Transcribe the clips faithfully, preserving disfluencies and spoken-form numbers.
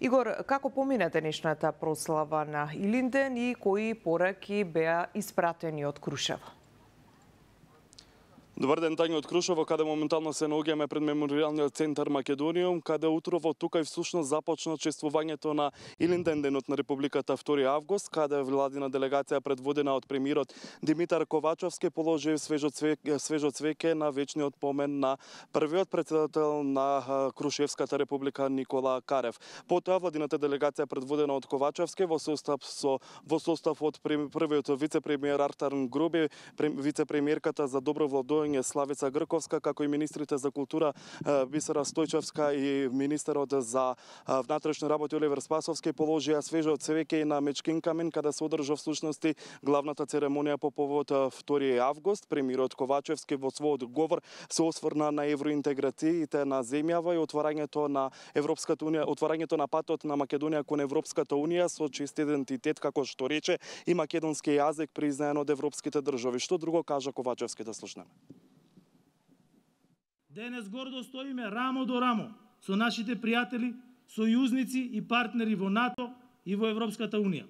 Игор, како помина денешната прослава на Илинден и кои пораки беа испратени од Крушево? Добар ден, Тања од Крушево, каде моментално се наоѓаме пред Меморијалниот центар Македониум, каде утрово тука и всушност започна чествувањето на Илинден, денот на Републиката втори август, каде владина делегација предводена од премиерот Димитар Ковачевски положи свежо цвеќе, свежо цвеќе на вечниот помен на првиот председател на Крушевската република Никола Карев. Потоа владината делегација предводена од Ковачевски во состав со во состав од првиот вице-премиер Артан Груби, вице-премиерката за добро владување Славица Грковска, како и министрите за култура Бисера Стојчевска и министерот за внатрешни работи Оливер Спасовски положија свежо цвеќе на Мечкин камен, каде се одржа всушности главната церемонија по повод втори август. Премиерот Ковачевски во својот говор се осврна на евроинтеграциите на земјава и отварањето на Европската унија, отварањето на патот на Македонија кон Европската унија со чист идентитет, како што рече, и македонски јазик признаен од европските држави. Што друго кажа Ковачевски, да слушнеме. Денес гордо стоиме рамо до рамо со нашите пријатели, сојузници и партнери во НАТО и во Европската унија.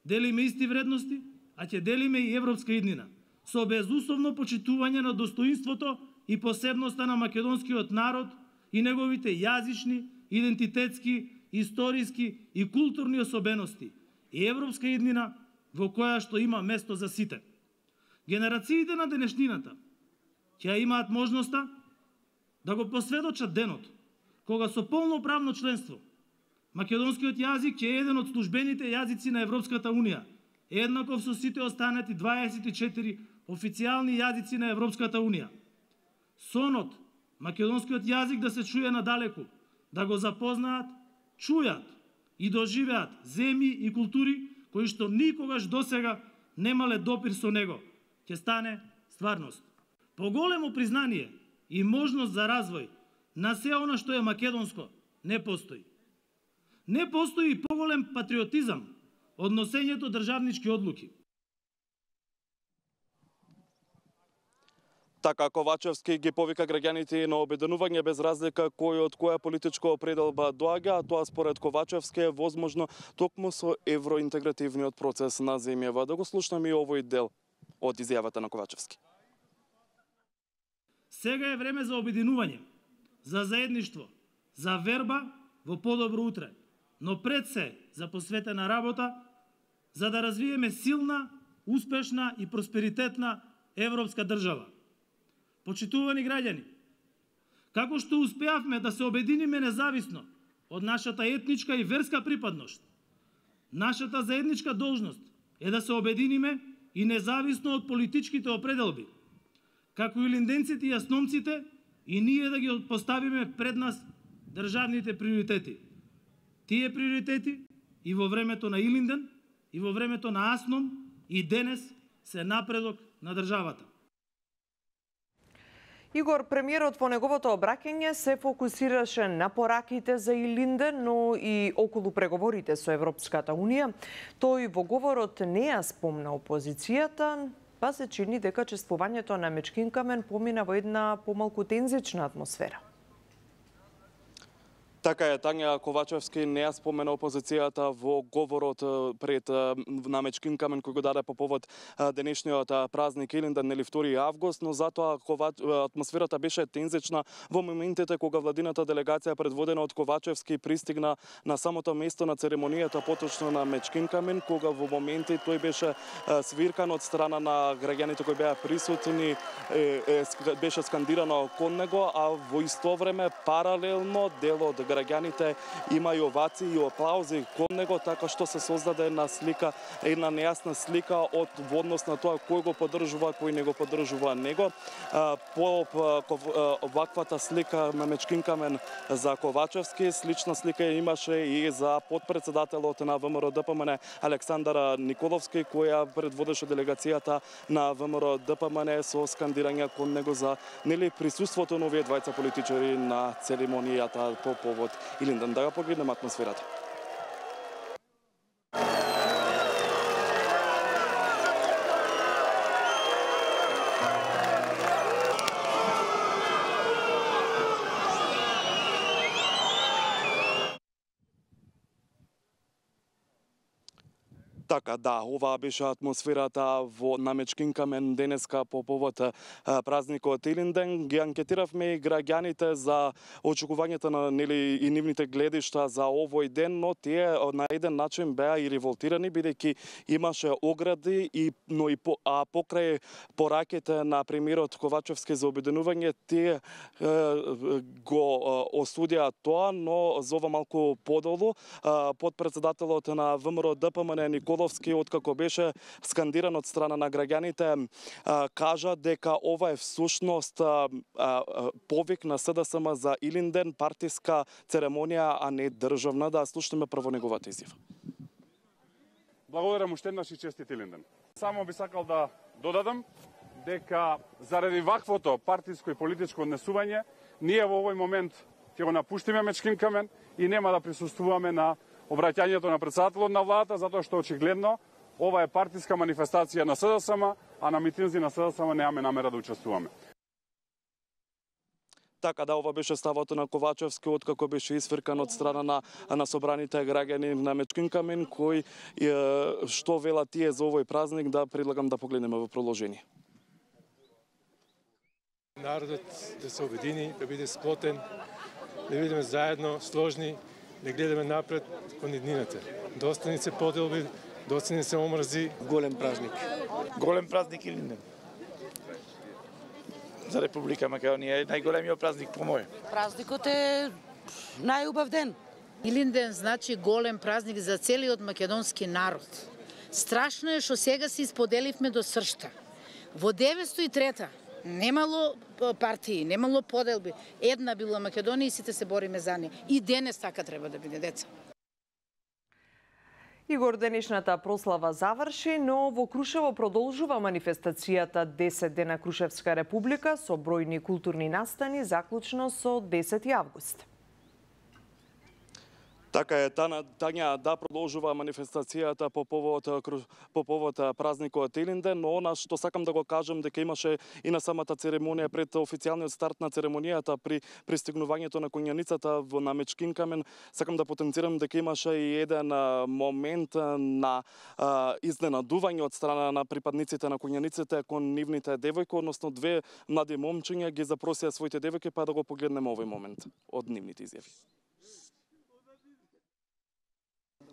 Делиме исти вредности, а ќе делиме и европска иднина, со безусловно почитување на достоинството и посебноста на македонскиот народ и неговите јазични, идентитетски, историски и културни особености и европска иднина во која што има место за сите. Генерациите на денешнината ќе имаат можноста да го посведочат денот, кога со полноправно членство македонскиот јазик е еден од службените јазици на Европската унија, еднаков со сите останати дваесет и четири официјални јазици на Европската унија. Сонот македонскиот јазик да се чуе надалеку, да го запознаат, чујат и доживеат земји и култури кои што никогаш досега немале допир со него, ќе стане стварност. Поголемо признание и можност за развој на се она што е македонско не постои. Не постои и поголем патриотизам од носењето државнички одлуки. Така Ковачевски ги повика граѓаните на обединување без разлика кој од која политичка определба доаѓа, а тоа според Ковачевски е возможно токму со евроинтегративниот процес на земјава. Да го слушнеме и овој дел од изјавата на Ковачевски. Сега е време за обединување, за заедништво, за верба во подобро утре, но пред се за посветена работа, за да развиеме силна, успешна и просперитетна европска држава. Почитувани граѓани, како што успеавме да се обединиме независно од нашата етничка и верска припадност, нашата заедничка должност е да се обединиме и независно од политичките определби, како и илинденците и јасномците, и ние да ги поставиме пред нас државните приоритети. Тие приоритети и во времето на Илинден, и во времето на Асном, и денес се напредок на државата. Игор, премиерот во неговото обраќање се фокусираше на пораките за Илинден, но и околу преговорите со Европската унија. Тој во говорот не ја спомна опозицијата, па се чини дека чествувањето на Мечкин камен помина во една помалку тензична атмосфера. Така е, Тања, Ковачевски не ја спомена опозицијата во говорот пред на Мечкин камен кој го даде по повод денешниот празник Илинден, нели втори август, но затоа атмосферата беше тензична во моментите кога владината делегација предводена од Ковачевски пристигна на самото место на церемонијата, поточно на Мечкин камен, кога во моменти тој беше свиркан од страна на граѓаните кои беа присутни, беше скандирано кон него, а во исто време паралелно дел од граѓаните има и овации и аплаузи кон него, така што се создаде една слика, една нејасна слика од во однос на тоа кој го поддржува, кој не го поддржува него. По ваквата слика на Мечкин камен за Ковачевски, слична слика имаше и за подпредседателот на ВМРО Д П М Н Александар Николовски, која предводеше делегацијата на ВМРО Д П М Н со скандирање кон него за нели присуството на овие двајца политичари на церемонијата по повод Илинден. Да ја погледнеме атмосферата. Така, да, оваа беше атмосферата во Намечкин камен денеска по повод празникот Илинден. Ги анкетиравме и граѓаните за очекувањата на нели и нивните гледишта за овој ден, но тие на еден начин беа и револтирани бидејќи имаше огради и но и по, а покрај пораките на премиерот Ковачевски за обединување, тие е, го осудија тоа, но за ова малку подолу подпредседателот на ВМРО Д П М Н Никола откако беше скандиран од страна на граѓаните, кажа дека ова е всушност повик на С Д С М за Илинден, партиска церемонија, а не државна. Да слушнеме прво неговата изјава. Благодарам уште еднаш и честит Илинден. Само би сакал да додадам дека заради ваквото партиско и политичко однесување, ние во овој момент ќе го напуштиме Мечкин камен и нема да присуствуваме на обраќањето на председателот на владата, затоа што очигледно ова е партиска манифестација на С Д С М, а на митинзи на С Д С М немаме намера да учествуваме. Така да, ова беше ставот на Ковачевски откако беше исфркан од страна на на собраните граѓани на Мечкин камен, кои што велат тие за овој празник, да предлагам да погледнеме во продолжение. Народот да се обедини, да биде сплотен, да бидеме заедно, сложни, да гледаме напред кон иднината. Доста ни се поделби, доста ни се омрзи. Голем празник. Голем празник Илинден. За Република Македонија е најголемиот празник по мој. Празникот е најубав ден. Илинден значи голем празник за целиот македонски народ. Страшно е што сега се исподеливме до сршта. Во деветстотини и трета немало партии, немало поделби. Една била Македонија и сите се бориме за неја. И денес така треба да биде, деца. Игор, денешната прослава заврши, но во Крушево продолжува манифестацијата десет дена Крушевска република со бројни културни настани, заклучно со десети август. Така е, Тања, Тања да продолжува манифестацијата по повод по повод празникот Илинден, но она што сакам да го кажам дека имаше и на самата церемонија пред официјалниот старт на церемонијата при пристигнувањето на конјаницата во на Мечкин камен, сакам да потенцирам дека имаше и еден момент на а, изненадување од страна на припадниците на конјаниците кон нивните девојки, односно две млади момчиња ги запросија своите девојки, па да го погледнеме овој момент од нивните изјави.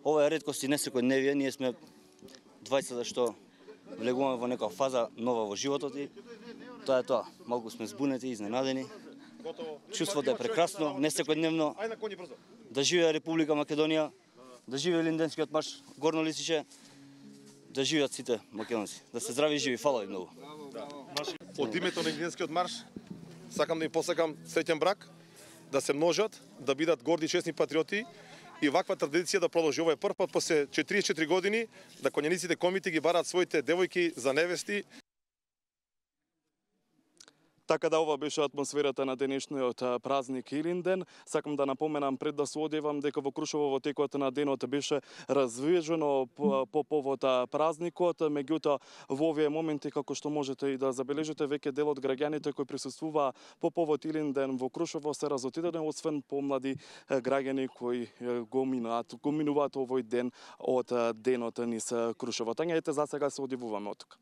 Ова е реткост и не секојдневие, ние сме двајцата што влегуваме во некоја фаза нова во животот и тоа е тоа. Малку сме збунети, изненадени. Чувството е прекрасно, не секојдневно. Да живее Република Македонија, да живее Илинденскиот марш, горно лисиче, да живеат сите македонци. Да се здрави и живи, фала ви многу. Од името на Илинденскиот марш сакам да им посакам среќен брак, да се множат, да бидат горди и честни патриоти. И ваква традиција да продолжи. Ова е прв пат после четириесет и четири години да конјаниците комити ги бараат своите девојки за невести. Така да, ова беше атмосферата на денешниот празник Илинден. Сакам да напоменам пред да се одевам дека во Крушево во текот на денот беше развижено по, по повод празникот, меѓутоа во овие моменти, како што можете и да забележите, веќе дел од граѓаните кои присуствуваа по повод Илинден во Крушево се разотидени, освен помлади граѓани кои го минуваат, го минуваат овој ден од денот низ Крушево. Тања, ете, за сега се одивуваме од тука.